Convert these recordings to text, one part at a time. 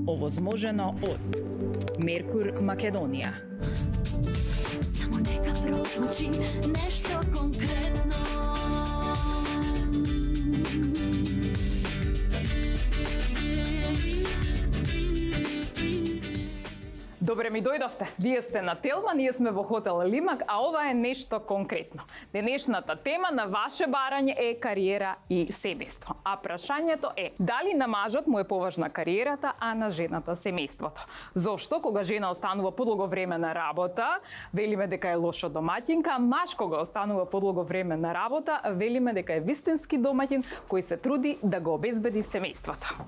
Овозможено од Меркур Македонија. Само нека прозвучи нешто конкретно. Добре ми дојдовте. Вие сте на Телма, ние сме во хотел Лимак, а ова е нешто конкретно. Денешната тема на ваше барање е кариера и семејство. А прашањето е, дали на мажот му е поважна кариерата, а на жената семејството? Зошто, кога жена останува подолго време на работа, велиме дека е лошо домаќинка, а маж кога останува подолго време на работа, велиме дека е вистински домаќин кој се труди да го обезбеди семејството.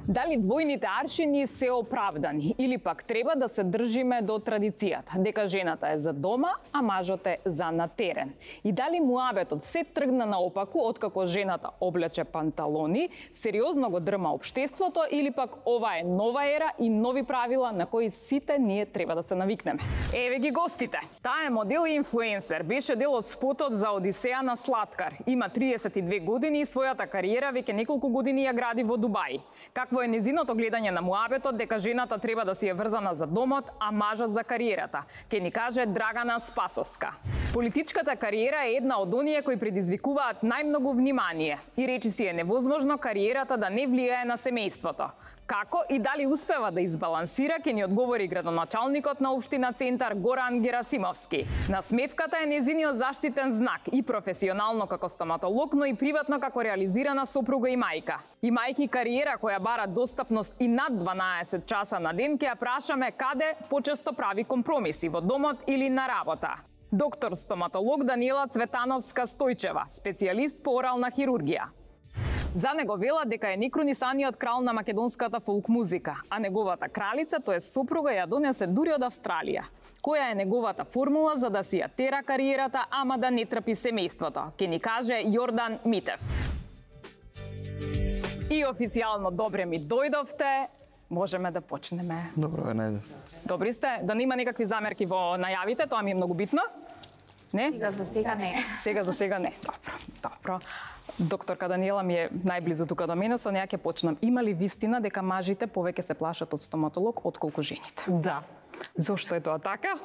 Дали двојните аршини се оправдани или пак треба да се држиме до традицијата, дека жената е за дома, а мажот е за на терен? И дали муабетот се тргна наопаку откако жената облече панталони, сериозно го дрма општеството или пак ова е нова ера и нови правила на кои сите ние треба да се навикнеме? Еве ги гостите. Таа е модел и инфлуенсер, беше дел од спотот за Одисеја на Слаткар. Има 32 години и својата кариера веќе неколку години ја гради во Дубај. Какво е незиното гледање на муабетот дека жената треба да си е врзана за домот, а мажот за кариерата? Ке ни каже Драгана Спасовска. Политичката кариера е една од оние кои предизвикуваат најмногу внимание и речиси е невозможно кариерата да не влијае на семејството. Како и дали успева да избалансира, ке ни одговори градоначалникот на општина Центар Горан Герасимовски. Насмевката е незиниот заштитен знак и професионално како стоматолог, но и приватно како реализирана сопруга и мајка. Имајќи кариера која бара достапност и над 12 часа на ден, ќе ја прашаме каде почесто прави компромиси, во домот или на работа. Доктор стоматолог Даниела Цветановска Стојчева, специјалист по орална хирургија. За него вела дека е некронисаниот крал на македонската фолк музика, а неговата кралица, тоа е сопруга, ја донесе дури од Австралија. Која е неговата формула за да си ја тера кариерата, ама да не трпи семејството? Ке ни каже Јордан Митев. И официјално добре ми дојдовте. Можеме да почнеме. Добро ве најдов. Добри сте? Да нема некакви замерки во најавите, тоа ми е многу битно. Не? Сега за сега не. Сега за сега не. Добро. Докторка Даниела ми е најблизу тука до мене, со неа ќе почнам. Има ли вистина дека мажите повеќе се плашат од стоматолог отколку жените? Да. Зошто е тоа така?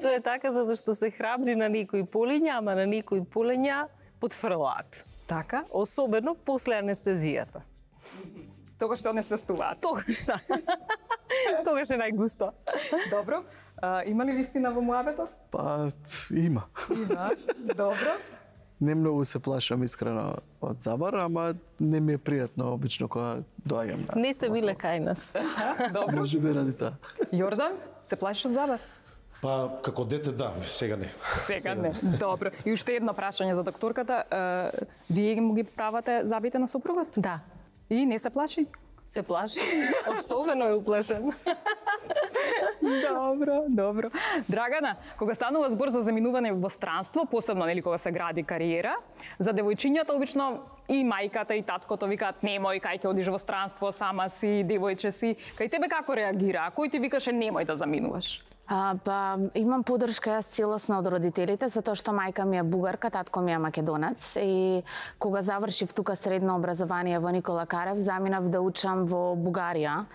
Тоа е така затоа што се храбри на некои полиња, ама на некои полиња потфрлаат. Така? Особено после анестезијата. Тогаш што не се стуваат. Тогаш да. Тогаш е најгусто. Добро. Има ли вистина во муабетот? Па, има. Има. Добро. Не многу се плашам искрено од забар, ама не ми е пријатно обично кога доаѓам на. Не сте биле кај нас. Добро. Може би ради тоа. Јордан, се плашиш од забар? Па, како дете да, сега не. Сега не. Добро. И уште едно прашање за докторката. Вие му ги правате забите на сопругот? Да. И не се плаши? Се плаши. Особено е уплашен. Добро. Драгана, кога станува збор за заминување во странство, посебно нели кога се гради кариера, за девојчињата обично и мајката и таткото викаат немој, кај ќе одиш во странство, сама си, девојче си. Кај тебе како реагира? Кој ти викаше немој да заминуваш? Па, имам поддршка јас целосно од родителите, затоа што мајка ми е бугарка, татко ми е македонец и кога завршив тука средно образование во Никола Карев, заминав да учам во Бугарија.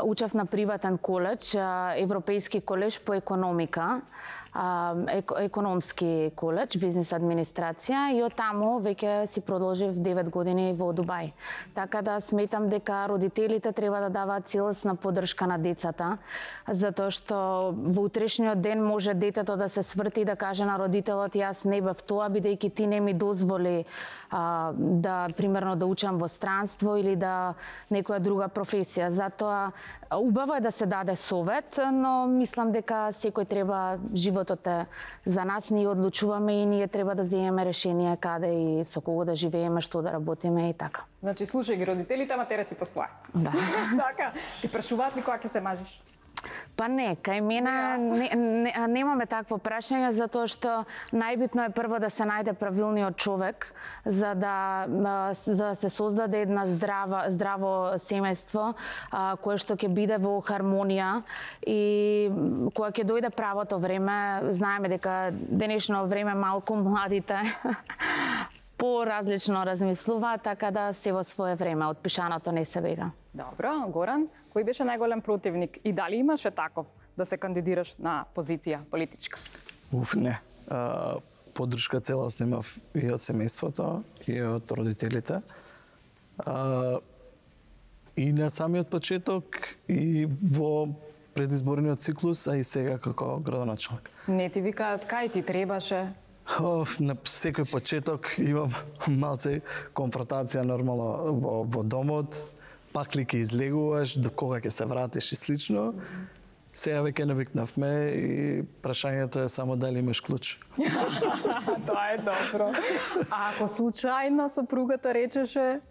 Учев на приватен коледж, Европејски коледж по економика, економски коледж, бизнес администрација и од таму веќе си продолжив 9 години во Дубај. Така да сметам дека родителите треба да даваат целосна поддршка на децата, затоа што во утрешниот ден може детето да се сврти и да каже на родителот јас не бев тоа, бидејќи ти не ми дозволи да примерно да учам во странство или да некоја друга професија. Затоа убаво е да се даде совет, но мислам дека секој треба, животот е за нас, ние одлучуваме и ние треба да земеме решение каде и со кого да живееме, што да работиме и така. Значи слушај ги родителите, ама тере си по своја. Да. Така, ти прашуваат ли кога ќе се мажиш? Па не, кај мене немаме такво прашање, затоа што најбитно е прво да се најде правилниот човек за да се создаде една здраво семејство кое што ќе биде во хармонија и кога ќе дојде правото време, знаеме дека денешно време малку младите поразлично размислуваат, така да се во свое време, од пишаното не се бега. Добро, Горан, кој беше најголем противник и дали имаше таков да се кандидираш на позиција политичка? Не. Поддршка целосно имав и од семејството, и од родителите. И на самиот почеток, и во предизборниот циклус, а и сега како градоначелник. Не ти викаат кај ти требаше? На секој почеток имам малце конфронтација нормално во домот, пак ли ќе излегуваш, до кога ќе се вратиш и слично. Сега веќе навикнавме и прашањето е само дали имаш клуч. Тоа е добро. А ако случајно сопругата речеше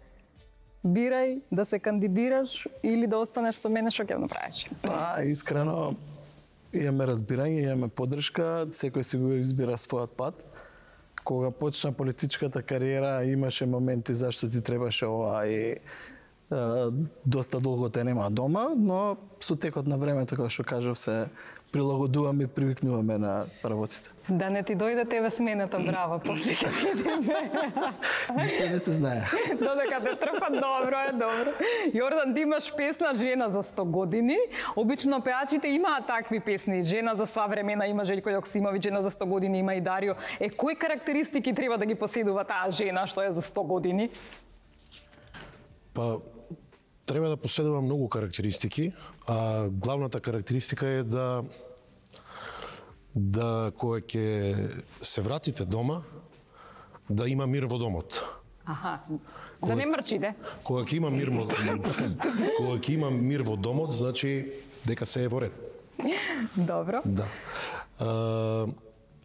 бирај да се кандидираш или да останеш со мене, што ќе направиш? Искрено, имаме разбирање, имаме поддршка, секој си го избира својот пат. Кога почна политичката кариера, имаше моменти зашто ти требаше ова и доста долго те нема дома, но со текот на времето, како што кажав, се прилагодуваме и привикнуваме на работите. Да не ти дојде тебе смената брава, после ќе видиме. Ништо не се знае. Додека те трпат, добро е, добро. Јордан, ти имаш песна Жена за 100 години. Обично пеачите имаат такви песни. Жена за сва времена има Желјко Јоксимовиќ, Жена за 100 години има и Дарио. Кои карактеристики треба да ги поседува таа жена што е за 100 години? Па, треба да поседува многу карактеристики, а главната карактеристика е да кога ќе се вратите дома, да има мир во домот. Аха, да не мрчите. Кога ќе има мир кога ќе има мир во домот, значи дека се е во ред. Добро. Да.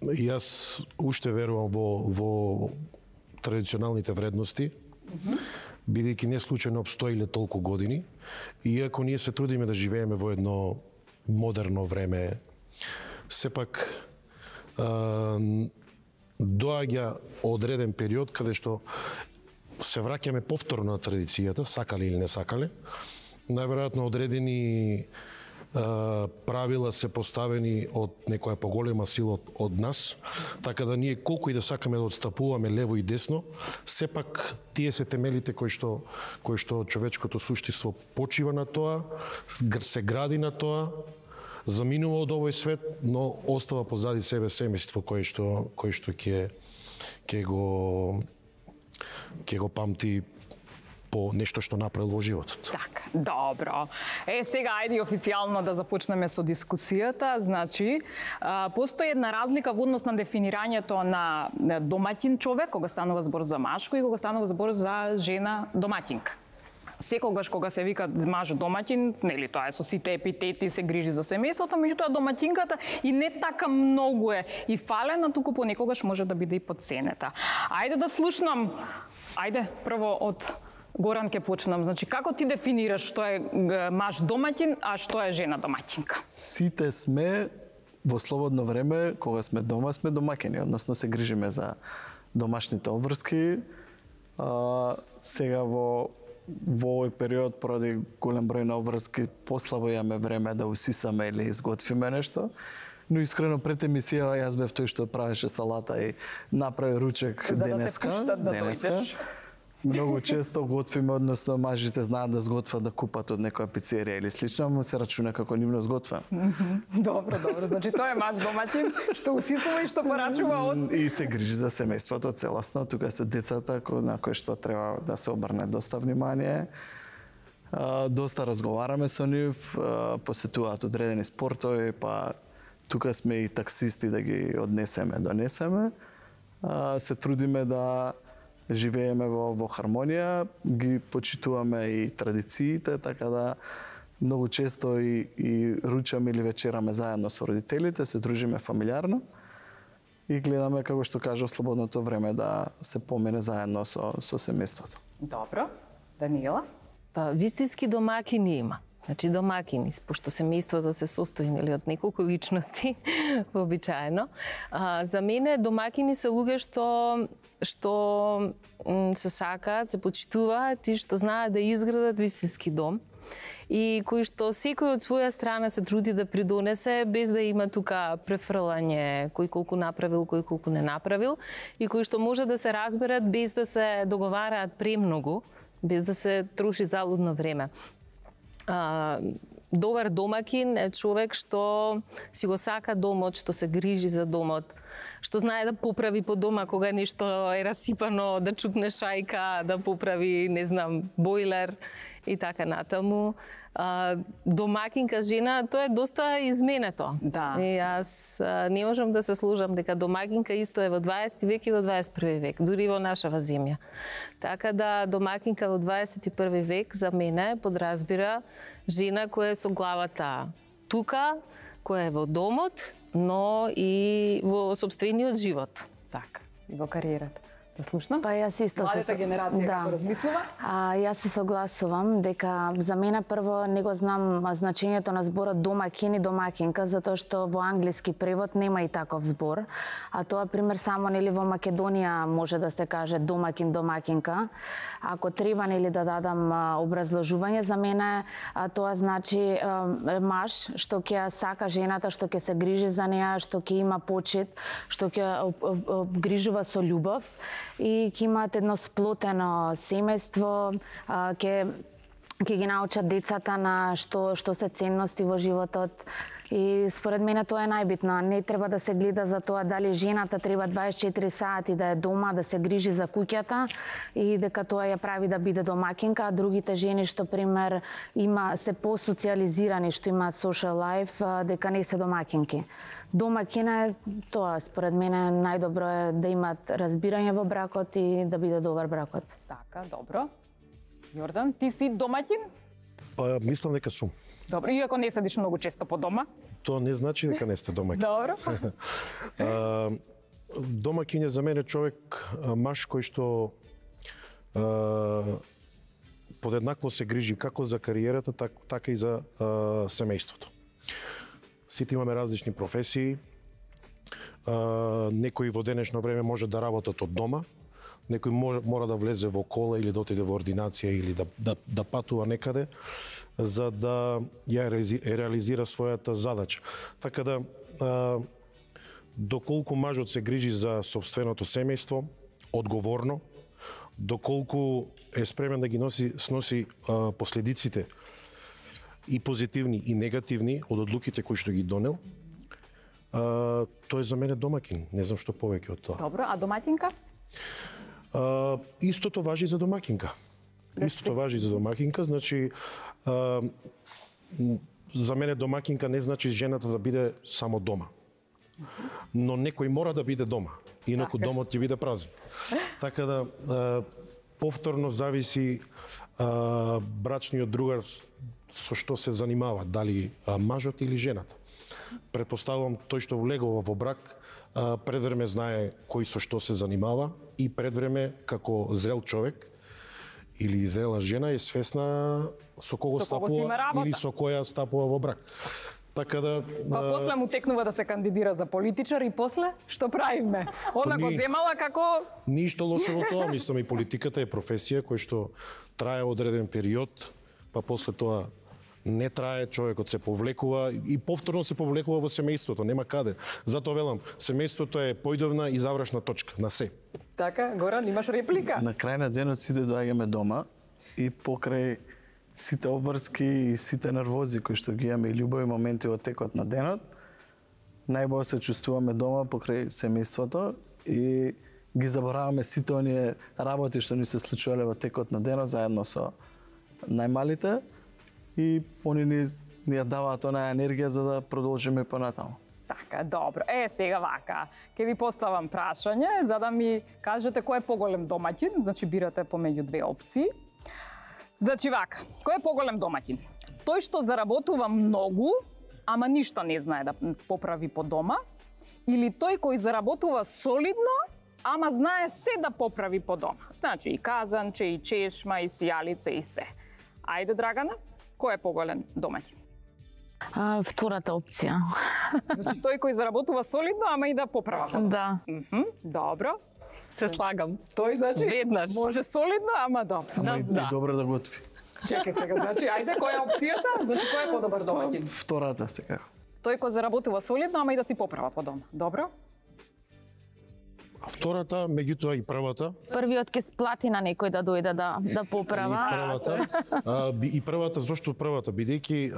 Јас уште верувам во традиционалните вредности. Бидејќи не случајно обстоиле толку години, иако ние се трудиме да живееме во едно модерно време, сепак доаѓа одреден период каде што се враќаме повторно на традицијата, сакале или не сакале. Најверојатно одредени правила се поставени од некоја поголема сила од нас, така да ние колку и да сакаме да отстапуваме лево и десно, сепак тие се темелите кои што човечкото суштество почива на тоа, се гради на тоа, заминува од овој свет, но остава позади себе семејство кое што ќе го памти по нешто што направил во животот. Така, добро. Сега ајде официјално да започнеме со дискусијата. Значи, постои една разлика во однос на дефинирањето на домаќин човек, кога станува збор за машко и кога станува збор за жена домаќинка. Секогаш кога се вика маж домаќин, нели тоа е со сите епитети, се грижи за семејството, меѓутоа домаќинката и не така многу е и фалена, туку понекогаш може да биде и подценета. Ајде да слушнам, прво од Горан ќе почнам. Значи, како ти дефинираш што е маж домаќин, а што е жена домаќинка? Сите сме во слободно време, кога сме дома, сме домаќини, односно се грижиме за домашните обврски. Сега во овој период, поради голем број на обврски, послабо имаме време да усисаме или изготвиме нешто. Но искрено пред емисија јас бев тој што правеше салата и направи ручек денеска. За да те пуштат да дојдеш. Многу често готвиме, односно мажите знаат да сготват да купат од некоја пицерија или слично, но се рачуна како нивно сготвен. Добро. Значи тоа е маж домаќин што усисува и што порачува од... И се грижи за семејството целосно. Тука се децата на кои што треба да се обрне доста внимание. Доста разговараме со нив, посетуваат одредени спортови, па тука сме и таксисти да ги однесеме, донесеме. Се трудиме да живееме во хармонија, ги почитуваме и традициите, така да многу често и ручаме или вечераме заедно со родителите, се дружиме фамилиарно и гледаме, како што кажав, слободното време да се помине заедно со семејството. Добро. Даниела? Па, вистински домаќини има. Значи домаќини, пошто семејството се состои од неколку личности, вообичаено. За мене домаќини се луѓе што се сакаат, се почитуваат и што знаат да изградат вистински дом. и кој што секој од своја страна се труди да придонесе без да има тука префрлање кој колку направил, кој колку не направил и кој што може да се разберат без да се договараат премногу, без да се троши залудно време. Добар домакин е човек што си го сака домот, што се грижи за домот, што знае да поправи по дома кога нешто е расипано, да чукне шајка, да поправи, не знам, бойлер и така натаму. Домакинка жена, тоа е доста изменето. Да. И јас не можам да се служам дека домакинка исто е во 20 век и во 21 век, дури во нашава земја. Така да домакинка во 21 век за мене подразбира жена која е со главата тука, која е во домот, но и во сопствениот живот. Така, и во кариерата. Да слушнам? Па јас исто Младата генерација како размислува? Јас се согласувам дека за мене прво не го знам значењето на зборот домакин и домакинка, затоа што во англиски превод нема и таков збор, а тоа пример само нели во Македонија може да се каже домакин, домакинка. Ако треба нели да дадам образложување, за мене тоа значи маж што ќе сака жената, што ќе се грижи за неа, што ќе има почит, што ќе грижува со љубов и ќе имаат едно сплотено семејство, ќе ги научат децата на што се ценности во животот. И според мене тоа е најбитно. Не треба да се гледа за тоа дали жената треба 24 сати да е дома, да се грижи за куќата и дека тоа ја прави да биде домакинка, а другите жени што пример се посоциализирани, што имаат social life, дека не се домакинки. Домакина е тоа, според мене најдобро е да имаат разбирање во бракот и да биде добар бракот. Така, добро. Јордан, ти си домаќин? Па мислам дека сум. Добро, иако не седиш многу често по дома. Тоа не значи дека не сте домаќин. Добро. Домаќин е за мене човек, маж кој што подеднакво се грижи како за кариерата, така и за семејството. Сите имаме различни професии. Некои во денешно време може да работат од дома, некој мора да влезе во кола или да отиде во ординација или да патува некаде за да ја реализира својата задача. Така да доколку мажот се грижи за сопственото семејство одговорно, доколку е спремен да ги сноси последиците и позитивни и негативни од одлуките кои што ги донел, тој е за мене домакин. Не знам што повеќе од тоа. Добро, а домаќинка? Истото важи за домакинка. Истото важи за домакинка, значи за мене домакинка не значи жената да биде само дома. Но некој мора да биде дома, инаку домот ќе биде празен. Така да повторно зависи брачниот другар со што се занимава, дали мажот или жената. Предпоставувам тој што влегува во брак пред време знае кој со што се занимава и пред време како зрел човек или зрела жена е свесна со кого стапува или со која стапува во брак. Така да Па после му текнува да се кандидира за политичар и после што правиме? Она го земала како ништо лошо во тоа, мислам и политиката е професија која што трае одреден период, па после тоа не трае, човекот се повлекува и повторно се повлекува во семејството, нема каде. Затоа велам, семејството е појдовна и завршна точка на се. Така, Горан, имаш реплика? На крај на денот сите доаѓаме дома и покрај сите обврски и сите нервози кои што ги имаме и љубови моменти во текот на денот, најбоље се чувствуваме дома покрај семејството и ги забораваме сите оние работи што ни се случувале во текот на денот заедно со најмалите и они ни ја даваат онаа енергија за да продолжиме понатаму. Така, добро. Сега вака, ќе ви поставам прашање за да ми кажете кој е поголем домаќин, значи бирате помеѓу две опции. Значи вака, кој е поголем домаќин? Тој што заработува многу, ама ништо не знае да поправи по дома, или тој кој заработува солидно, ама знае се да поправи по дома? Значи и казанче, и чешма, и сијалица, и се. Ајде, Драгана, кој е поголем домаќин? Втората опција. Значи тој кој заработува солидно, ама и да поправа по дома. Да. Добро. Се слагам. Тој значи веднаш може солидно, ама добро. Ама и добро да готви. Чекај сега, значи, ајде, која е опцијата? Значи, кој е подобар домаќин? Втората секако. Тој кој заработува солидно, ама и да си поправа по дома. Добро? А втората, меѓутоа и првата, Првиот ќе сплати на некој да дојде да поправа. и првата, зошто првата? Бидејќи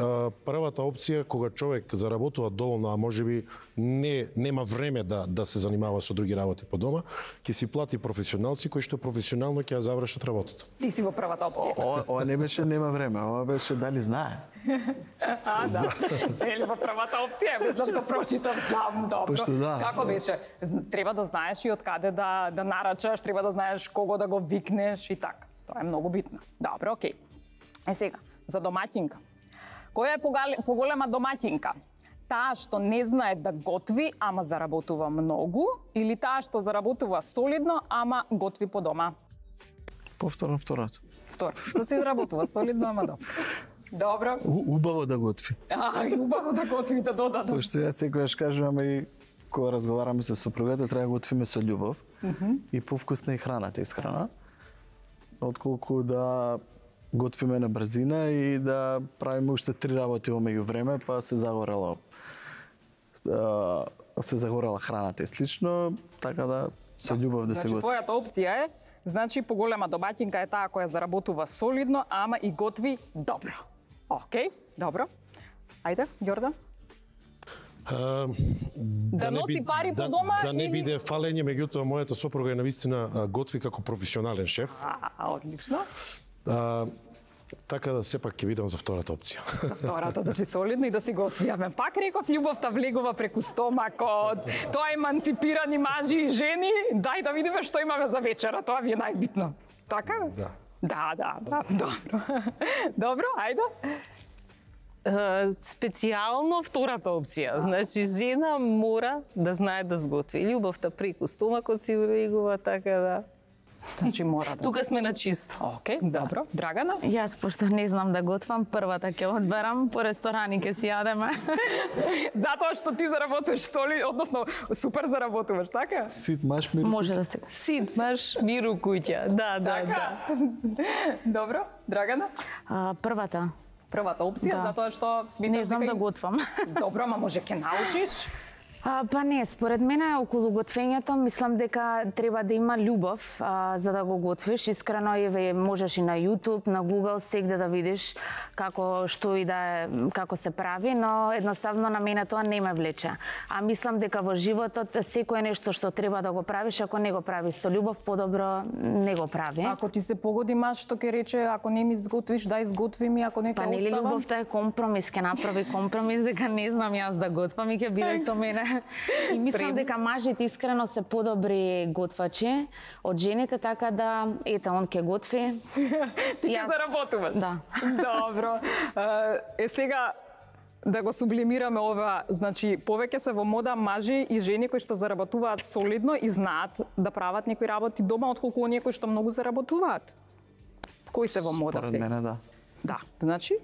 првата опција кога човек заработува доволно, а можеби нема време да се занимава со други работи по дома, ќе си плати професионалци кои што професионално ќе ја завршат работата. Ти си во првата опција. Ова не беше нема време, ова беше дали знае. Да. Или во првата опција, без да го прочитам, знам, добро. Пошто да. Како беше? Треба да знаеш и од каде да нарачаш, треба да знаеш кого да го викнеш и така. Тоа е многу битно. Добро, окей. Сега, за домаќинка. Која е поголема домаќинка? Таа што не знае да готви, ама заработува многу, или таа што заработува солидно, ама готви по дома? Повторно второто. Второ, што си заработува солидно, ама добро. Добро. Убаво да готви. Убаво да готви, да додадам. Пошто јас секогаш кажувам и кога разговараме со сопругата, треба да готвиме со љубов и повкусна и храната исхрана, отколку да готвиме на брзина и да правиме уште 3 работи во меѓувреме, па се загорела храната и слично, така да со љубов да се Значи, готви. твојата опција е, значи, поголема домаќинка е таа која заработува солидно, ама и готви добро. Океј, добро. Ајде, Ѓордан. Да носи пари по дома да не или- биде фалење, меѓутоа мојата сопруга е навистина готви како професионален шеф. Одлично. Така да сепак ќе видам за втората опција. За втората, значи солидно и да си готви. Аме пак реков, љубовта влегува преку стомакот. Тоа е еманципирани мажи и жени. Дај да видиме што имаме за вечера, тоа ви е најбитно. Така? Да. Да, добро. Добро, ајде. Специјално втората опција. Значи, жена мора да знае да сготви. Љубовта преку стомакот си влегува, така да. Значи мора да. Тука сме на чисто. Океј, добро. Драгана? Јас, пошто не знам да готвам, првата ќе одберам, по ресторани ќе си јадеме. Затоа што ти заработуваш соли, односно супер заработуваш, така? Сит маш ми Може да се. Сит, маш, миру куќа. Да. Добро, Драгана? Првата. Првата опција, Да. затоа што сметам Не знам дека да готвам. Добро, ама може ќе научиш. Па не, според мене околу готвењето мислам дека треба да има љубов за да го готвиш. Искрено можеш и на YouTube, на Google сегде да видиш што и да е, како се прави, но едноставно на мене тоа не ме влече. А мислам дека во животот секое нешто што треба да го правиш, ако не го правиш со љубов, подобро не го прави. Ако ти се погоди маж што ќе рече, ако не ми изготвиш, дај изготви ми, ако не ќе Па нели оставам. љубовта е компромис, ќе направи компромис дека не знам јас да готвам и ќе биде со мене. И мислам дека мажите искрено се подобри готвачи од жените, така да ете он ќе готви. Ти ќе заработуваш. Да. Добро. Сега да го сублимираме ова, значи повеќе се во мода мажи и жени кои што заработуваат солидно и знаат да прават некои работи дома, отколку оние кои што многу заработуваат. Кои се во мода Според сега? мене да. Да, значи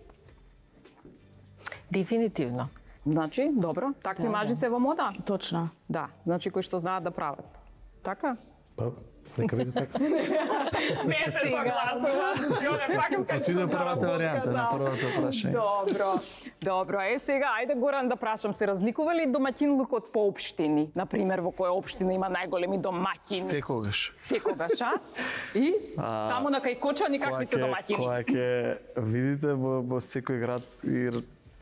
Дефинитивно. Значи, добро, такви мажи се во мода? Точно. Да, значи кои што знаат да прават. Така? Па, нека биде така. Не се согласува. Отиде првата варијанта на првото прашање. Добро. Сега, ајде Горан да прашам, се разликува ли домаќинлукот по општини? Например, во која општина има најголеми домаќини? Секогаш. Секогаш, а? И таму на кај Кочани какви се домаќини? Кога ќе видите во секој град и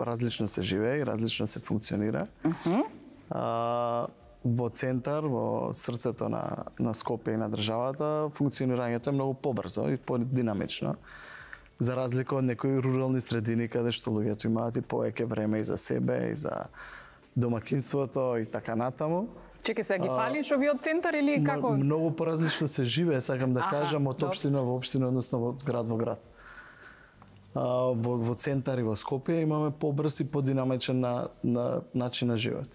различно се живее и различно се функционира. Во центар, во срцето на Скопје и на државата, функционирањето е многу побрзо и подинамично. За разлика од некои рурални средини каде што луѓето имаат и повеќе време и за себе, и за домакинството и така натаму. Чекај се, ги фалиш овие од центар или како? Многу поразлично се живее, сакам да кажам, од добро. општина во општина, односно од град во град. Во центар и во Скопје имаме побрз и подинамичен начин на живот.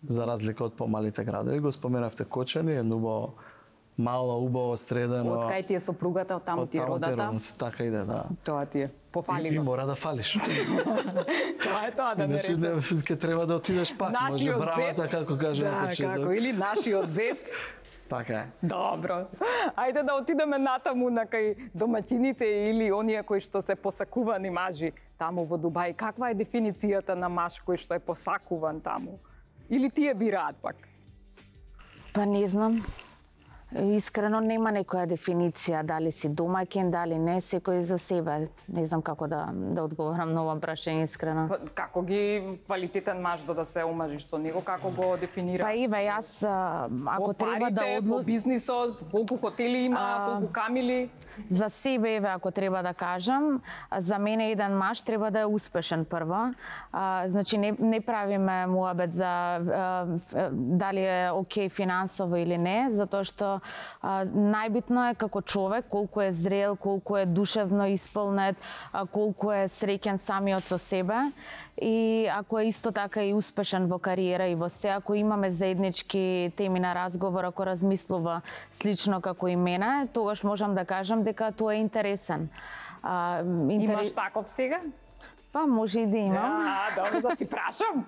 За разлика од помалите градови, го споменавте Кочани, едно мало, убаво, средено. Од кај ти е сопругата, од таму ти е родата? Така иде, да. Тоа ти е. Пофали И го. мора да фалиш. Тоа е тоа да не Иначе речем. ќе треба да отидеш пак. Може Нашиот бравата, зет. како кажа Да, почеток. како, или нашиот зет Така е. Добро. Ајде да отидеме натаму на кај домаќините или оние кои што се посакувани мажи таму во Дубај. Каква е дефиницијата на маж кој што е посакуван таму? Или тие бираат пак? Па не знам. Искрено нема некоја дефиниција, дали си домаќин, дали не, секој за себе. Не знам како да одговорам на ова прашање искрено. Па, како ги квалитетен маж за да се омажиш со него, како го дефинира? Па Ива, јас ако треба да по бизнисот, колку хотели има, колку камили? За себе, еве, ако треба да кажам, за мене еден маж треба да е успешен прво. Значи, не правиме муабет за дали е окей финансово или не, затоа што најбитно е како човек, колку е зрел, колку е душевно исполнет, колку е среќен самиот со себе и ако е исто така и успешен во кариера и во се, ако имаме заеднички теми на разговор, ако размислува слично како и мене, тогаш можам да кажам дека тоа е интересен. Имаш таков сега? Па може и да имам. Добро, да си прашам.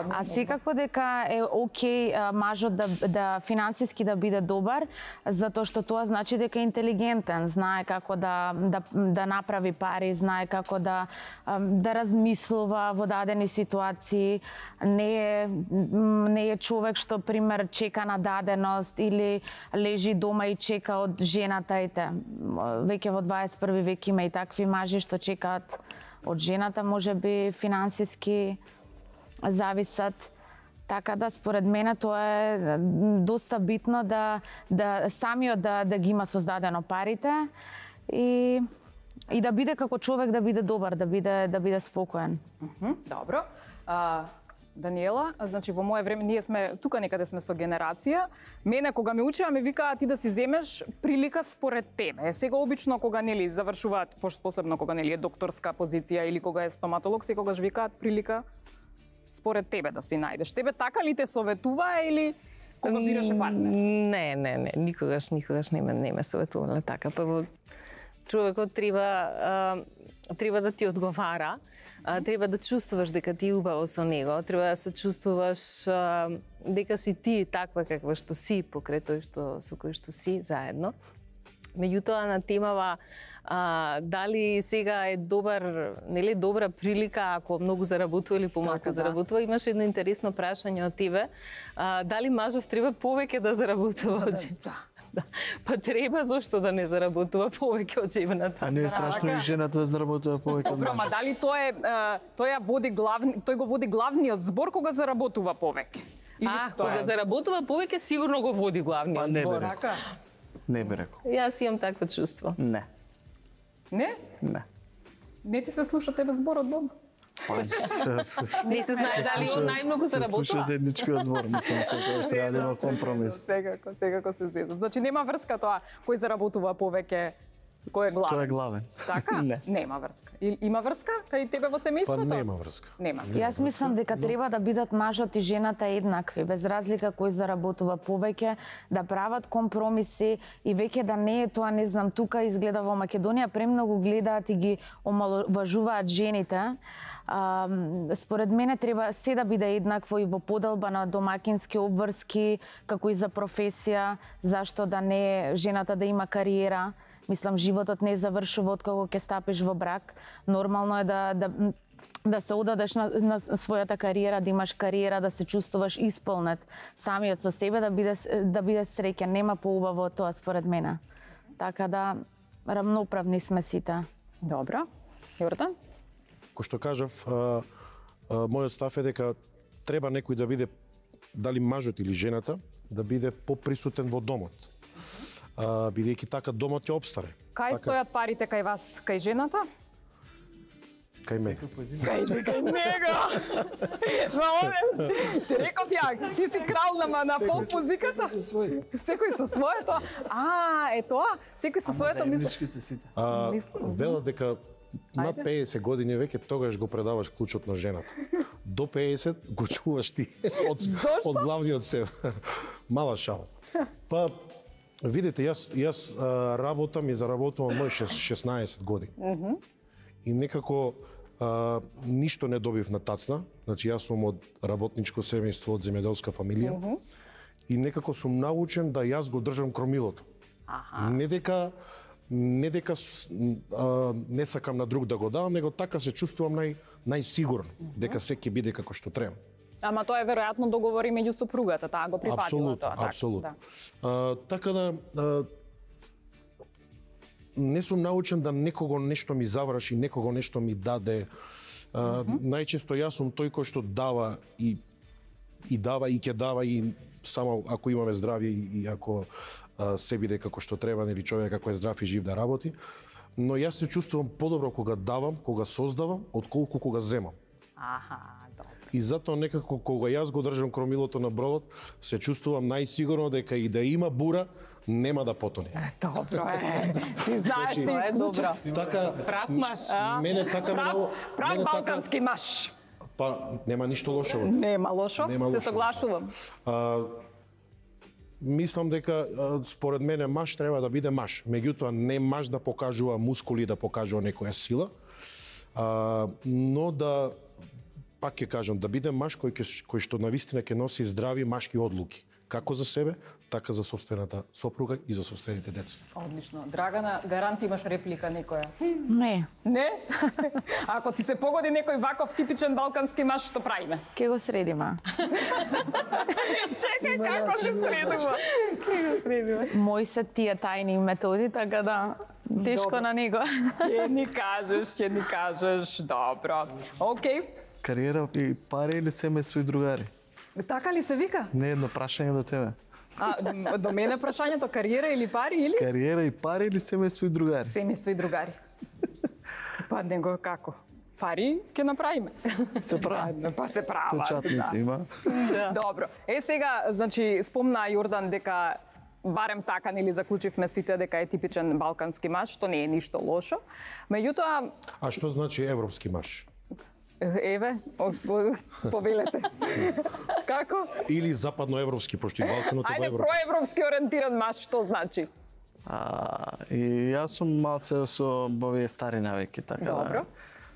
А секако дека е окей мажот да финансиски да биде добар, затоа што тоа значи дека е интелигентен, знае како да направи пари, знае како да размислува во дадени ситуации, не е човек што пример чека на даденост или лежи дома и чека од жената, веќе во 21 век има и такви мажи што чекаат од жената, можеби финансиски зависат. Така да според мене тоа е доста битно да самиот да ги има создадено парите и да биде како човек, да биде добар, да биде спокоен. Добро. Даниела, значи во мое време ние сме тука некаде сме со генерација. Мене кога ме учеа ме викаа ти да си земеш прилика според тебе. Сега обично кога нели завршуваат, посебно кога нели е докторска позиција или кога е стоматолог, секогаш викаат прилика според тебе да си најдеш. Тебе така ли те советуваа или кога бираше партнер? Не, никогаш не ме советувале така. Прво човекот треба да ти одговара, треба да чувствуваш дека ти е убаво со него, треба да се чувствуваш дека си ти таква каква што си покрај тој со кој што си заедно. Меѓутоа на темава дали сега е добра прилика ако многу заработува или помалку заработува, имаше едно интересно прашање од тебе. Дали мажов треба повеќе да заработува од жената? Па треба, зошто да не заработува повеќе од жената? А не е страшно и жената да заработува повеќе од мажот? Ма дали тој го води главниот збор кога заработува повеќе? Кога заработува повеќе сигурно го води главниот збор. Не би рекол. Јас имам такво чувство. Не. Не? Не. Не ти се слуша тебе зборот дома? Не се знае дали он најмногу заработува. Се слуша заедничкиот збор, мислам, секогаш треба да има компромис. Секако се зедам. Значи нема врска тоа кој заработува повеќе, кој е главен. Тоа е главен. Така? Не. Нема врска. Има врска кај тебе во семејството? Па нема врска. Нема. Јас мислам дека треба да бидат мажот и жената еднакви, без разлика кој заработува повеќе, да прават компромиси и веќе да не е тоа, не знам, тука изгледа во Македонија премногу гледаат и ги омаловажуваат жените. Според мене треба се да биде еднакво и во поделба на домакински обврски, како и за професија, зашто да не жената да има кариера. Мислам, животот не завршува откако ќе стапиш во брак. Нормално е да се одадеш на својата кариера, да имаш кариера, да се чувствуваш исполнет самиот со себе, да биде среќен. Нема поубаво од тоа според мене. Така да рамноправни сме сите. Добро. Јордан? Кој што кажав, мојот став е дека треба некој да биде, дали мажот или жената, да биде поприсутен во домот. Бидејќи така домот ќе обстане. Кај стојат парите кај вас, кај жената? Кај мене. Кај него. Ти реков ја, ти си крал на поп-музиката. Секој со своето. Е тоа? Секој со своето заеднички се сите. Велат дека над 50 години веќе тогаш го предаваш клучот на жената. До 50 го чуваш ти од главниот себе. Мала шала. Па видите, јас работам и заработувам мој 16 години. И некако ништо не добив на тацна. Значи јас сум од работничко семејство, од земјоделска фамилија. и некако сум научен да јас го држам кромилото. Не дека не сакам на друг да го давам, него така се чувствувам најсигурно, дека се ќе биде како што треба. Ама тоа е веројатно договори меѓу сопругата, таа го прифатила тоа. Апсолутно. Така да не сум научен да некого нешто ми заврши, некого нешто ми даде. Најчесто јас сум тој кој што дава и дава и ќе дава и само ако имаме здравје и ако се биде како што треба, нели човек ако е здрав и жив да работи. Но јас се чувствувам подобро кога давам, кога создавам, отколку кога земам. Добро. И затоа некако кога јас го држам кромилото на бродот, се чувствувам најсигурно дека и да има бура, нема да потоне. Добро е. Си знаеш ти, Тоа е добро. Така, Прав маж. мене така Прав балкански маж. Па нема ништо лошо. Нема лошо, се соглашувам. Мислам дека според мене маж треба да биде маж. Меѓутоа не маж да покажува мускули, да покажува некоја сила, но да пак ќе кажам, да биде маж кој што навистина ќе носи здрави машки одлуки, како за себе, така за собствената сопруга и за собствените деца. Одлично. Драгана, гарант имаш реплика некоја? Не, Не? Ако ти се погоди некој ваков типичен балкански маж, што правиме? ќе го средиме. Чекај, како се средува? Мои се тие тајни методи, така да тешко Добро. на него. Ќе ни кажеш, добро. Океј. Кариера и пари или семејство и другари? Така ли се вика? Не едно прашање до тебе. До мене прашањето кариера или пари или? Кариера и пари или семејство и другари? Семејство и другари. Па него како? Пари ќе направиме. Се прави. Па се права. Печатници има. Добро. Сега, значи, спомна Јордан дека барем така нели заклучивме сите дека е типичен балкански маж, што не е ништо лошо. Меѓутоа, А што значи европски маж? еве, повелете. Како? Или западноевропски, пошто и Балканот е во Ајде, Европа. проевропски ориентиран маж, што значи? И јас сум малце со овие стари навики, така Добро.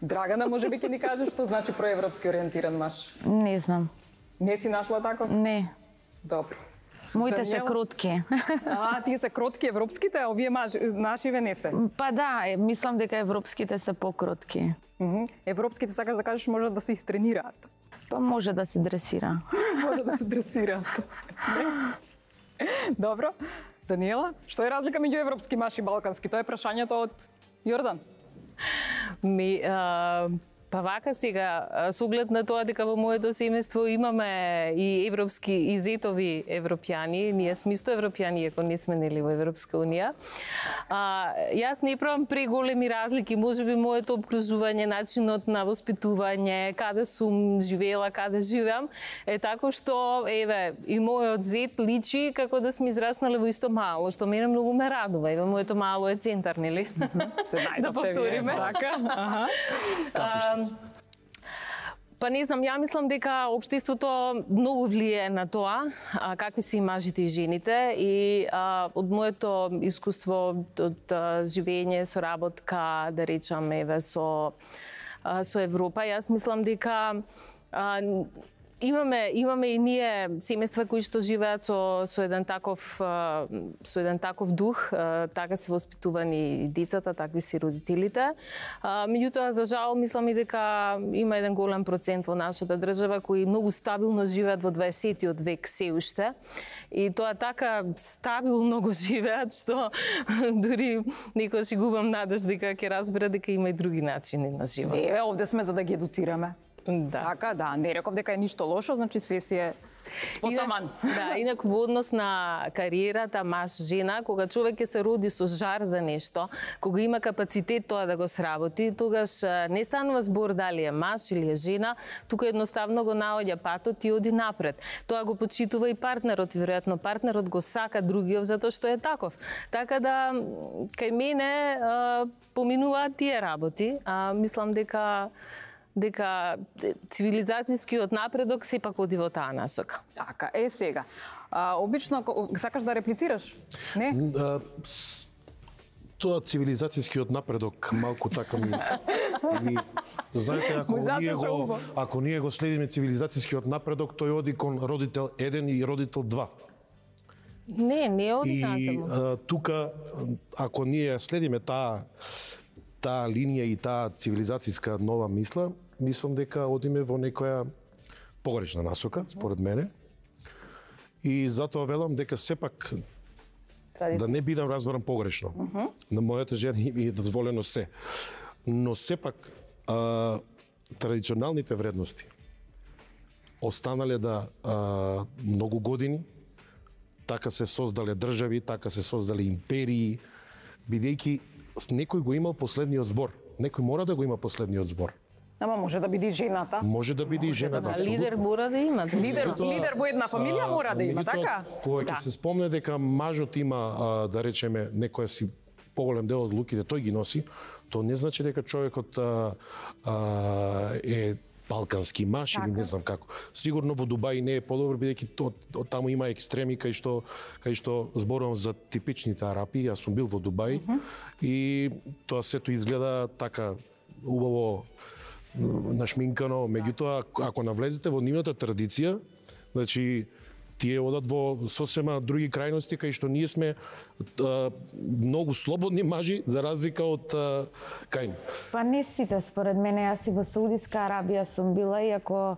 Драгана, може би ќе ни кажеш што значи проевропски ориентиран маж? Не знам. Не си нашла тако? Не. Добро. Моите се Даниела? кротки. Тие се кротки европските, а овие нашиве не се. Па да, мислам дека европските се покротки. Европските, сакаш да кажеш, може да се истренираат. Па може да се дресира. Може да се дресираат. Добро. Даниела, што е разлика меѓу европски маж и балкански? Тоа е прашањето од Јордан. Па вака сега, со оглед на тоа дека во моето семејство имаме и европски и зетови европјани, ние сме исто европјани, ако не сме нели во Европска унија. Јас не правам преголеми разлики, можеби моето обкружување, начинот на воспитување, каде сум живеела, каде живеам, е тако што еве и мојот зет личи како да сме израснале во исто мало, што мене многу ме радува. Еве моето мало е центар, нели? Се Да повториме. Така, Па не знам, ја мислам дека општеството многу влијае на тоа, какви се и мажите и жените, и од моето искуство од живење, соработка, да речам, еве со Европа, јас мислам дека имаме и ние семејства кои што живеат со еден таков дух, така се воспитувани и децата, такви се родителите. Меѓутоа, за жал, мислам и дека има еден голем процент во нашата држава кои многу стабилно живеат во 20-тиот век се уште. И тоа така стабилно го живеат што дури некојаш си губам надеж дека ќе разбера дека има и други начини на живот. Еве, овде сме за да ги едуцираме. Да. Така, да, не реков дека е ништо лошо, значи се си е потаман. Инак во однос на кариерата маж-жена, кога човек ќе се роди со жар за нешто, кога има капацитет тоа да го сработи, тогаш не станува збор дали е маж или е жена, тука едноставно го наоѓа патот и оди напред. Тоа го почитува и партнерот, веројатно партнерот го сака другиот затоа што е таков. Така да кај мене поминуваат тие работи, мислам дека цивилизацијскиот напредок сепак оди во таа насока. Така, сега. Обично, сакаш да реплицираш? Не? Тоа цивилизацијскиот напредок малку така ми знаете, ако ние го следиме цивилизацијскиот напредок, тој оди кон родител 1 и родител 2. Не оди И натаму. тука, ако ние следиме таа линија и таа цивилизацијска нова мисла, мислам дека одиме во некоја погрешна насока, според мене. И затоа велам дека сепак да не бидам разбран погрешно. На мојата жена ми е дозволено се. Но сепак традиционалните вредности останале многу години, така се создале држави, така се создале империи, бидејќи некој го имал последниот збор. Некој мора да го има последниот збор. Ама може да биде и жената. Може да биде и жената. А лидер мора да има. Лидер во една фамилија мора да има, така? Кога ќе се спомне дека мажот има, да речеме, некоја си поголем дел од луките, тој ги носи, то не значи дека човекот е балкански маж или не знам како. Сигурно во Дубај не е подобро, бидејќи таму има екстреми кај што зборувам за типичните арапи. Јас сум бил во Дубај и тоа сето изгледа така убаво нашминкано, меѓутоа ако навлезете во нивната традиција, значи тие одат во сосема други крајности кај што ние сме многу слободни мажи за разлика од кај нив. Па не сите, според мене, јас и во Саудиска Арабија сум била и ако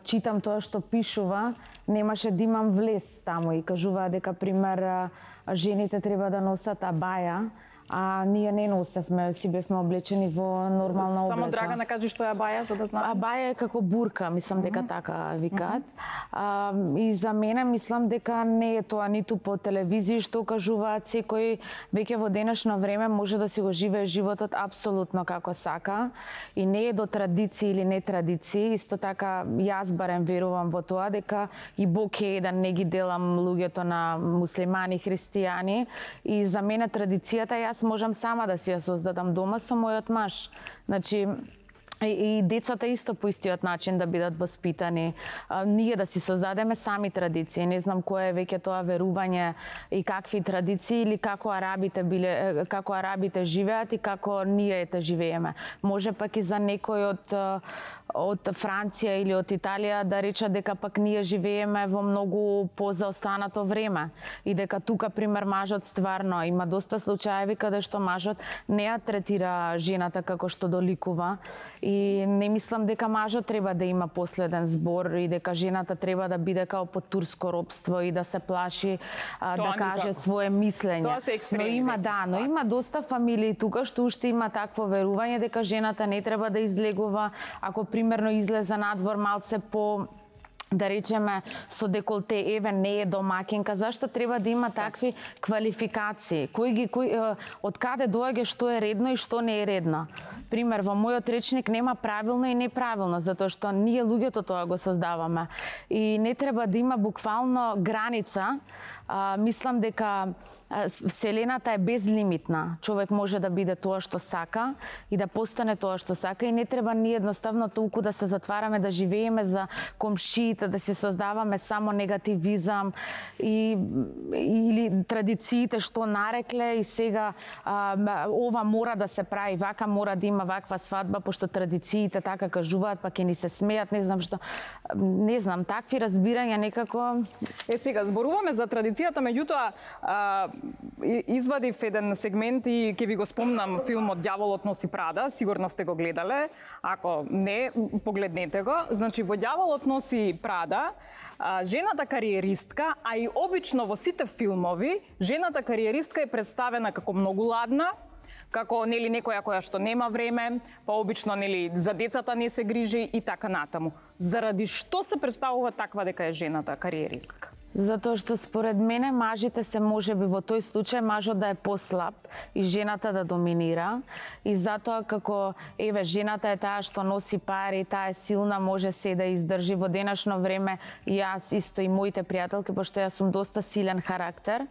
читам тоа што пишува, немаше да имам влез таму и кажуваа дека пример жените треба да носат абаја, а ние не носевме, си бевме облечени во нормална облека. Само Драгана кажи што е абаја, за да знам. Абаја е како бурка, мислам дека така викаат. И за мене мислам дека не е тоа ниту по телевизија што кажуваат, секој веќе во денешно време може да си го живее животот апсолутно како сака и не е до традиции или не традиции. Исто така јас барем верувам во тоа дека и Бог е еден, не ги делам луѓето на муслимани, христијани и за мене традицијата јас можам сама да си ја создадам дома со мојот маж. Значи, и децата исто по истиот начин да бидат воспитани. Ние да си создадеме сами традиции. Не знам кое е веќе тоа верување и какви традиции или како арабите живеат и како ние ете живееме. Може пак и за некој од Франција или од Италија да рече дека пак ние живееме во многу позаостанато време и дека тука пример мажот стварно има доста случаеви каде што мажот не ја третира жената како што доликува и не мислам дека мажот треба да има последен збор и дека жената треба да биде као под турско робство и да се плаши да каже свое мислење. Тоа се екстреми. Но има доста фамилии тука што уште има такво верување дека жената не треба да излегува ако примерно излезе надвор малце по да речеме со деколте, еве не е домакинка, зашто треба да има такви квалификации? Од каде доаѓа што е редно и што не е редно? Пример, во мојот речник нема правилно и неправилно, затоа што ние луѓето тоа го создаваме. И не треба да има буквално граница. Мислам дека Вселената е безлимитна. Човек може да биде тоа што сака и да постане тоа што сака и не треба ние едноставно толку да се затвараме, да живееме за комшиите, да се создаваме само негативизам или традициите што нарекле и сега ова мора да се прави, вака мора да има ваква свадба, пошто традициите така кажуваат, па ќе ни се смеат, не знам што. Не знам, такви разбирања некако... Сега, зборуваме за традицијата, меѓутоа извадив еден сегмент и ќе ви го спомнам филмот Ѓаволот носи Прада, сигурно сте го гледале, ако не, погледнете го. Значи, во Ѓаволот носи Прада, жената кариеристка, а и обично во сите филмови, жената кариеристка е представена како многу ладна, како нели некоја која што нема време, па обично нели за децата не се грижи и така натаму. Заради што се представува таква дека е жената кариеристка? Затоа што според мене мажите се можеби во тој случај мажот да е послаб и жената да доминира и затоа како еве жената е таа што носи пари, таа е силна, може се да издржи во денешно време и јас исто и моите пријателки, пошто јас сум доста силен характер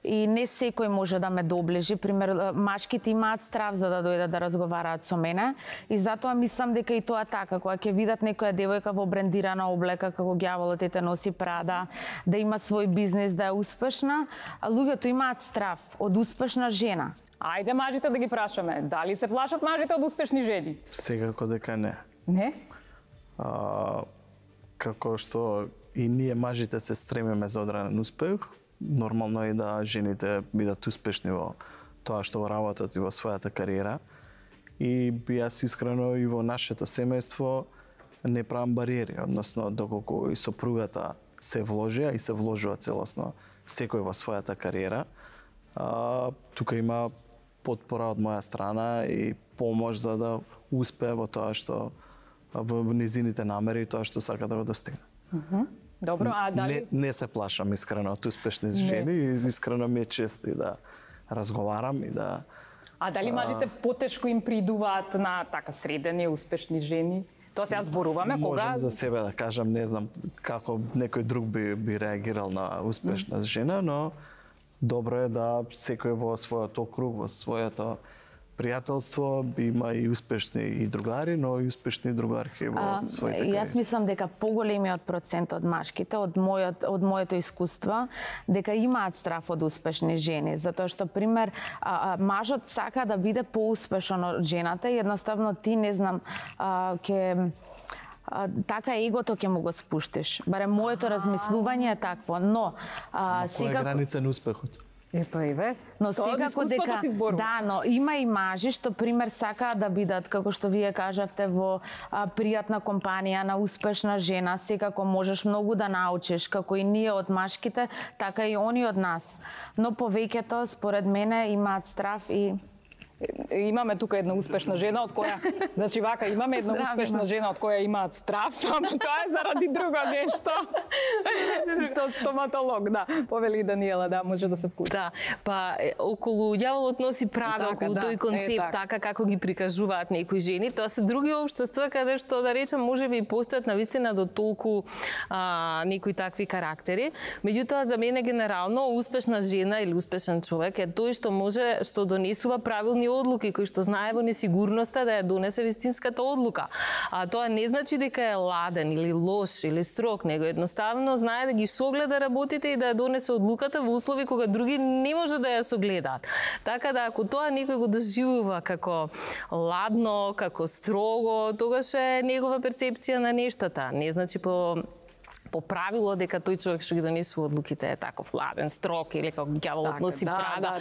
и не секој може да ме доближи. Пример, машките имаат страв за да дојдат да разговараат со мене и затоа мислам дека и тоа така, кога ќе видат некоја девојка во брендирана облека како Ѓаволот ете носи Прада, да има свој бизнес, да е успешна, а луѓето имаат страв од успешна жена. Ајде мажите да ги прашаме, дали се плашат мажите од успешни жени? Секако дека не. Не? Како што и ние мажите се стремиме за одреден успех, нормално е да жените бидат успешни во тоа што работат и во својата кариера. И јас искрено и во нашето семејство не правам бариери, односно доколку и сопругата се вложи, и се вложува целосно секој во својата кариера, тука има потпора од моја страна и помош за да успее во тоа што во низините намери и тоа што сака да го достигне. Добро, а дали Не се плашам искрено од успешни жени и искрено ми е чест и да разговарам и да дали мажите потешко им придуваат на така средени успешни жени? Тоа сега зборуваме кога можам за себе да кажам, не знам како некој друг би реагирал на успешна жена, но добро е да секој во својот округ, во своето пријателство има и успешни и другари, но и успешни другарки во своите кариери. Јас мислам дека поголемиот процент од машките, од моето искуство, дека имаат страф од успешни жени, затоа што пример мажот сака да биде поуспешен од жената и едноставно ти не знам така егото ќе му го спуштиш. Барем моето размислување е такво, но која е граница на успехот? Но секако дека но има и мажи што пример сакаат да бидат како што вие кажавте во пријатна компанија на успешна жена, секако можеш многу да научиш како и ние од машките, така и они од нас. Но повеќето според мене имаат страф и имаме тука една успешна жена од која, значи вака имаме една успешна жена од која имаат страф, ама тоа е заради друго нешто. Од стоматолог, да. Повели Даниела, да, може да се вклучи. Да, па околу ѓаволот носи прада, околу тој концепт, така како ги прикажуваат некои жени, тоа се други општества каде што да речам можеби и постојат навистина до толку некои такви карактери. Меѓутоа за мене генерално успешна жена или успешен човек е тој што може што донесува правилни одлуки, кој што знае во несигурноста да ја донесе вистинската одлука. А тоа не значи дека е ладен или лош или строг, него едноставно знае да ги согледа работите и да ја донесе одлуката во услови кога други не може да ја согледаат. Така да ако тоа некој го доживува како ладно, како строго, тогаш е негова перцепција на нештата. Не значи по правило дека тој човек што ги донесува одлуките е таков ладен, строг или како ѓаволот носи прада,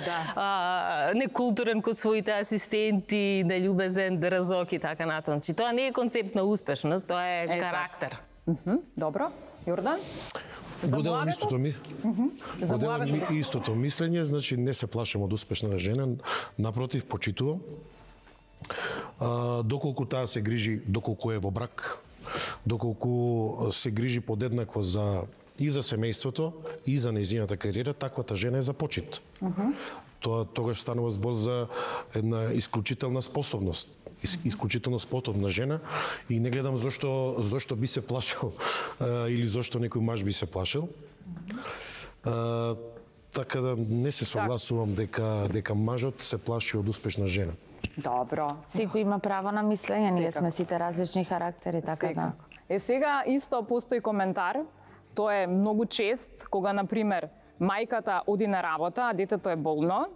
некултурен кон своите асистенти, нељубезен, дрзок и така натаму. Значи тоа не е концепт на успешност, тоа е карактер. Добро, Јордан? Поделам истото мислење, значи не се плашам од успешна жена, напротив, почитувам. Доколку таа се грижи, доколку е во брак, доколку се грижи подеднакво и за семејството, и за нејзината кариера, таквата жена е за почит. Тоа тогаш станува збор за една исклучителна способност, исклучително способна жена и не гледам зошто би се плашил или зошто некој маж би се плашил. Така да не се согласувам дека мажот се плаши од успешна жена. Добро. Секој има право на мислење, ние сме сите различни характери, така да. Сега исто постои коментар, тоа е многу чест, кога, например, мајката оди на работа, а детето е болно,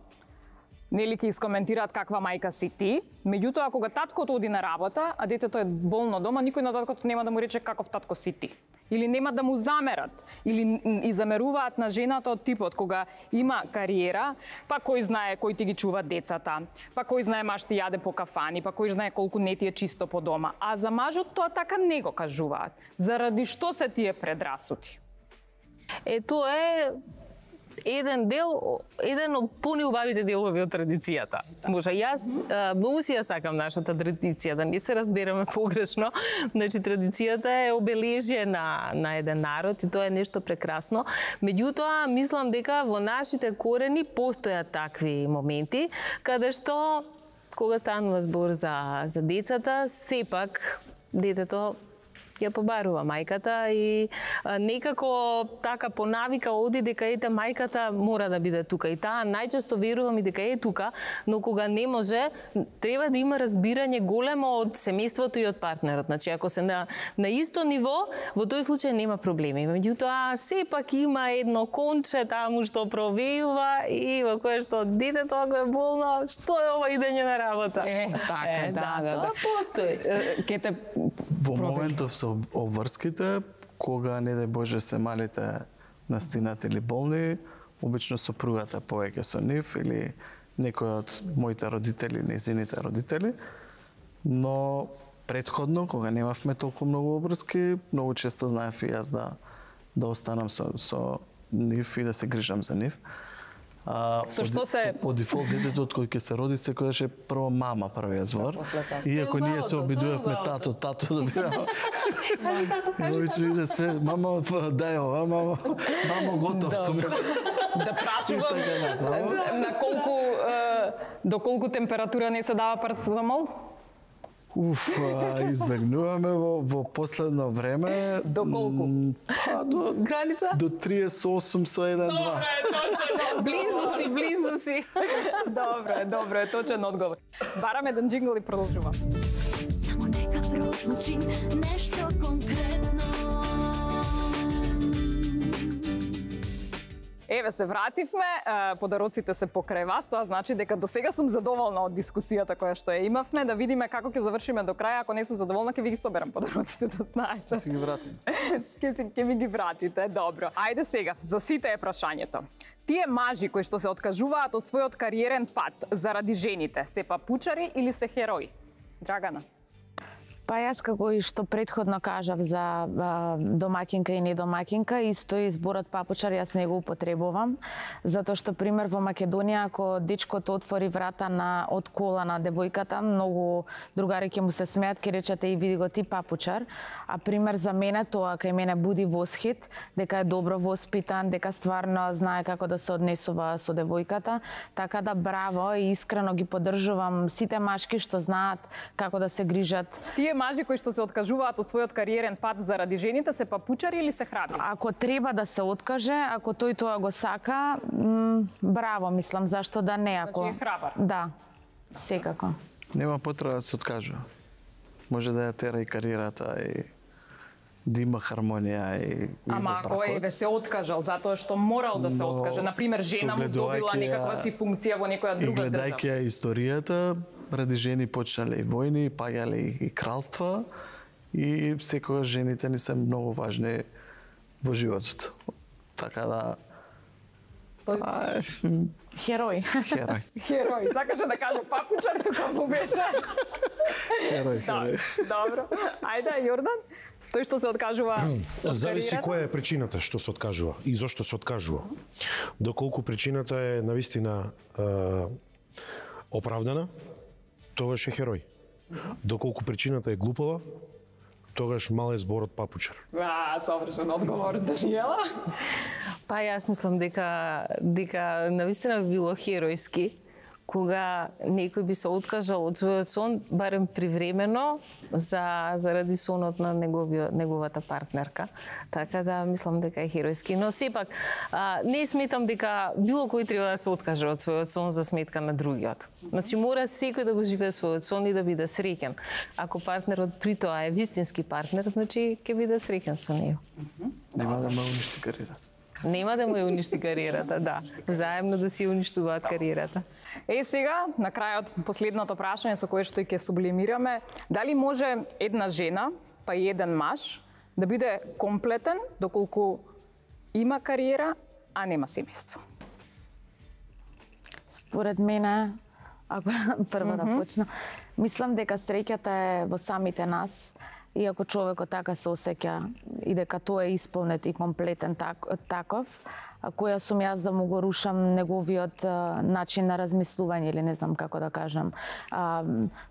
нели ќе искоментираат каква мајка си ти, меѓутоа кога таткото оди на работа, а детето е болно дома, никој на таткото нема да му рече каков татко си ти. Или нема да му замерат, или и замеруваат на жената од типот кога има кариера, па кој знае кој ти ги чува децата, па кој знае маш ти јаде по кафани, па кој знае колку не ти е чисто по дома. А за мажот тоа така не го кажуваат. Заради што се тие предрасуди? Тоа е еден од понеубавите делови од традицијата. Може, јас многу си ја сакам нашата традиција, да не се разбереме погрешно. Значи, традицијата е обележје на еден народ и тоа е нешто прекрасно. Меѓутоа, мислам дека во нашите корени постојат такви моменти, каде што, кога станува збор за децата, сепак детето ја побарува мајката и некако така по навика оди дека ете мајката мора да биде тука и таа најчесто верувам и дека е тука, но кога не може треба да има разбирање големо од семејството и од партнерот. Значи ако се на исто ниво, во тој случај нема проблеми. Меѓутоа сепак има едно конче таму што провејува и во кое што детето го е болно, што е ова идење на работа? Така, да. Тоа постои. Во моментов со обврските, кога не дај Боже се малите настинат или болни, обично сопругата повеќе со нив или некој од моите родители, незините родители, но претходно, кога немавме толку многу обврски, многу често знаев и јас да останам со нив и да се грижам за нив. Со што се по дефолт детето од кој ќе се роди секогаш е прво мама првиот збор. Иако ние се обидувавме тато да биде. Обично иде све, мама дај ова, мамо готов сум. Да прашувам на колку до колку температура не се дава парацетамол? Избегнуваме во последно време. До колку? До Граница? До 38 со 1-2. Добре, точно. Близу си. Добре, точен одговор. Бараме еден джингл и продолжувам. Само нека прозвучи нешто конкретно. Еве се вративме, подароците се покрај вас, тоа значи дека до сега сум задоволна од дискусијата која што ја имавме, да видиме како ќе завршиме до краја, ако не сум задоволна ќе ви ги соберам подароците, да знаете. Ќе си ги вратим. Ќе ми ги вратите, добро. Ајде сега, за сите е прашањето. Тие мажи кои што се откажуваат од својот кариерен пат заради жените, се папучари или се херои? Драгана. Па јас како и што претходно кажав за домакинка и недомакинка, исто и зборот папучар јас не го употребувам, затоа што пример во Македонија ако дечкото отвори врата од кола на девојката, многу другари ќе му се смеат, ќе речете и види го ти папучар, а пример за мене тоа кај мене буди восхит, дека е добро воспитан, дека стварно знае како да се однесува со девојката, така да браво и искрено ги поддржувам сите машки што знаат како да се грижат. Тие мажи кои што се откажуваат од својот кариерен пат заради жените се папучари или се храбри? Ако треба да се откаже, ако тој тоа го сака, браво, мислам, зашто да не, ако... Значи е храбар? Да, секако. Нема потреба да се откажува. Може да ја тера и кариерата и да има хармонија и Ама ако еве се откажал затоа што морал да се откаже, например жена му добила некаква си функција во некоја друга држава. И гледајќи ја историјата, ради жени почнале и војни, паѓале и кралства и секогаш жените ни се многу важни во животот. Така да Херој. Херој. Сакаше да каже папучар, тука му беше. Херој. Добро. Ајде, Јордан. Тој што се откажува од Зависи која е причината што се откажува и зошто се откажува. Доколку причината е навистина оправдана, тогаш е херој. Доколку причината е глупава, тогаш мал е зборот папучар. Совршен одговор, Даниела. Па јас мислам дека навистина би било херојски кога некој би се откажал од својот сон, барем привремено, заради сонот на неговата партнерка. Така да мислам дека е херојски. Но сепак, не сметам дека било кој треба да се откаже од својот сон за сметка на другиот. Значи, мора секој да го живее својот сон и да биде среќен. Ако партнерот при тоа е вистински партнер, значи ќе биде среќен со него. Нема да ме уништи кариерата. Нема да му ја уништи кариерата, да. Взаемно да си уништуваат кариерата. Сега, на крајот, последното прашање со кое што ќе сублимираме, дали може една жена, па и еден маж, да биде комплетен доколку има кариера, а нема семејство? Според мене, ако прво да почнам, мислам дека среќата е во самите нас, и ако човекот така се осеќа и дека тоа е исполнет и комплетен таков, која сум јас да му го рушам неговиот начин на размислување или не знам како да кажам.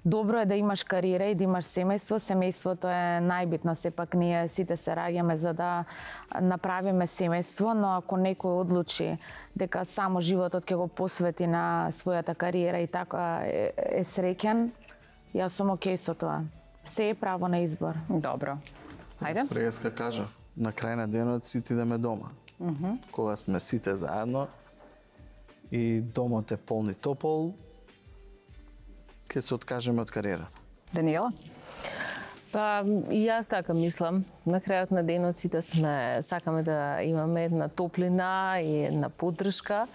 Добро е да имаш кариера и да имаш семејство. Семејството е најбитно, сепак ние сите се раѓаме за да направиме семејство, но ако некој одлучи дека само животот ќе го посвети на својата кариера и така е среќен, јас сум окей со тоа. Се е право на избор. Добро. Ајде. Преска кажав, на крај на денот сите идеме дома. Кога сме сите заедно и домот е полн и топол, ќе се откажеме од кариерата. Даниела? Па и јас така мислам. На крајот на денот сите сакаме да имаме една топлина и една поддршка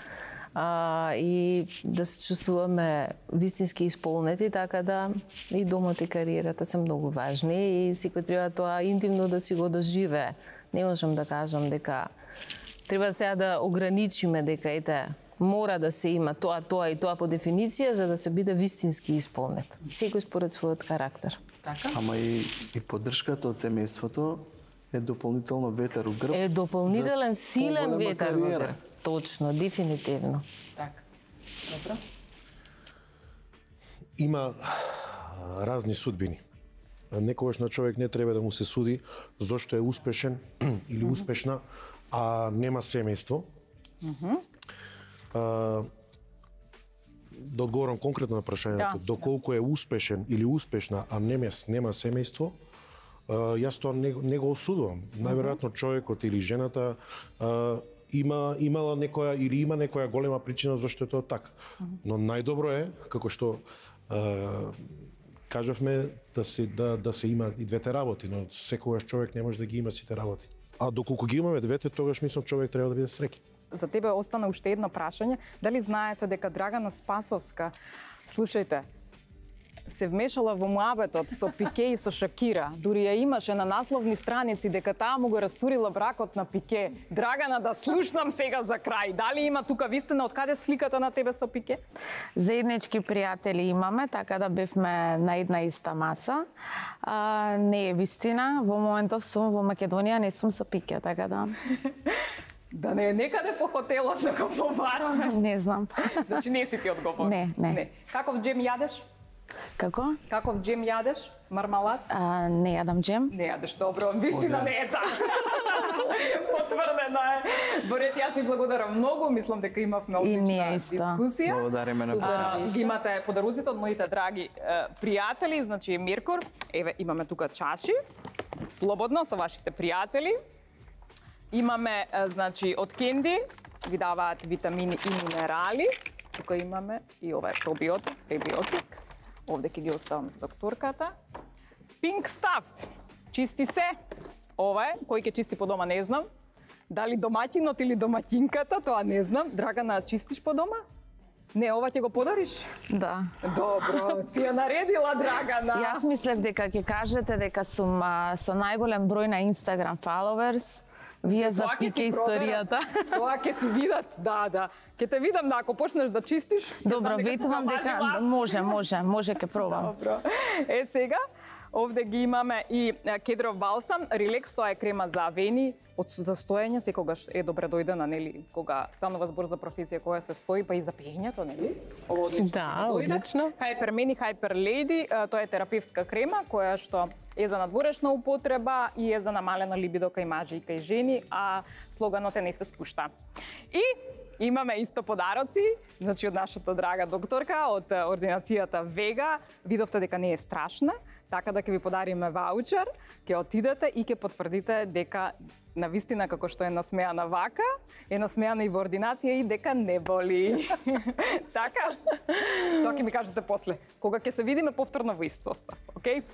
и да се чувствуваме вистински исполнети, така да и домот и кариерата се многу важни и секој треба тоа интимно да си го доживее. Не можам да кажам дека Треба сега да ограничиме дека ете мора да се има тоа и тоа по дефиниција за да се биде вистински исполнет. Секој според својот карактер. Така? Ама и поддршката од семејството е дополнително ветер у грб. Е дополнителен силен поголема ветер во кариера. грб. Точно, дефинитивно. Така. Добро. Има разни судбини. Некогаш на човек не треба да му се суди зошто е успешен или успешна, а нема семејство. Да одговорам конкретно на прашањето, доколку е успешен или успешна, а нема семејство, јас тоа не го осудувам. Најверојатно човекот или жената имала некоја или има некоја голема причина зашто е тоа така. Но најдобро е, како што кажавме, да се има и двете работи, но секогаш човек не може да ги има сите работи. А доколку ги имаме двете, тогаш мислам човек треба да биде среќен. За тебе остана уште едно прашање. Дали знаете дека Драгана Спасовска, слушајте, се вмешала во муабетот со Пике и со Шакира. Дури ја имаше на насловни страници дека таа му го растурила бракот на Пике. Драгана, да слушнам сега за крај. Дали има тука вистина, од каде сликата на тебе со Пике? Заеднички пријатели имаме, така да бевме на една иста маса. Не е вистина, во моментов сум во Македонија, не сум со Пике, така да... Да не е некаде по хотелот да го побараме. Не знам. Значи не си ти одговор. Не. Каков джем јадеш? Како? Каков джем јадеш? Мармалад? Не јадам джем. Не јадеш, добро, вистина не е така. Потврдено е. Борет, јас ви благодарам многу, мислам дека имавме одлична дискусија. Благодариме на поканата. Ги имате подаруците од моите драги пријатели, значи Меркур. Еве, имаме тука чаши. Слободно со вашите пријатели. Имаме, значи, од Кенди, ви даваат витамини и минерали. Тука имаме и ова е пробиотик, пребиотик. Овде ќе ги оставам за докторката. Pink Stuff, чисти се. Ова е, кој ќе чисти по дома, не знам. Дали домаќинот или домаќинката, тоа не знам. Драгана, чистиш по дома? Не, ова ќе го подариш? Да. Добро, си ја наредила, Драгана. Јас мислев дека ќе кажете дека сум со најголем број на Instagram followers. Вие за Пике историјата. Тоа ќе си видат, да. Ќе те видам, ако почнеш да чистиш. Добро, ветувам дека може ќе пробам. Добро. Сега, овде ги имаме и кедров балсам, релакс, тоа е крема за вени, од застоење, секогаш е добре дојдена, нели, кога станува збор за професија која се стои, па и за пеењето, нели? Ова одлично. Да, одлично. Hyper Meni, Hyper Lady, тоа е терапевтска крема која што е за надворешна употреба и е за намалена либидо кај мажи и кај жени, а слоганот е не се спушта. И имаме исто подароци, значи од нашата драга докторка, од ординацијата Вега. Видовте дека не е страшна, така да ќе ви подариме ваучер, ќе отидете и ќе потврдите дека навистина како што е насмеана вака, е насмеана и во ординација и дека не боли. Така? Тоа ќе ми кажете после, кога ќе се видиме повторно во ист состав, окей?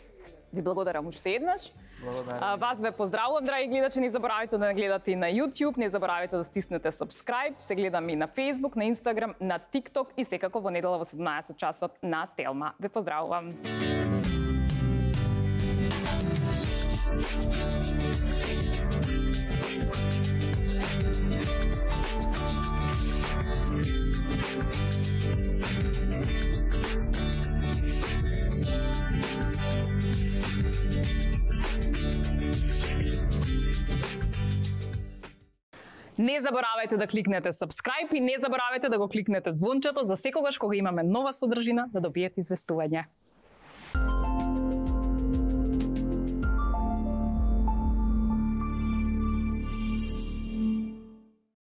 Ви благодарам уште еднаш. Благодарам. Вас ве поздравувам, драги гледачи, не заборавајте да не гледате и на YouTube, не заборавајте да стиснете subscribe, се гледам и на Facebook, на Instagram, на TikTok и секако во недела во 17 часот на Телма. Ве поздравувам. Не заборавајте да кликнете subscribe и не заборавајте да го кликнете звончето за секогаш кога имаме нова содржина да добиете известување.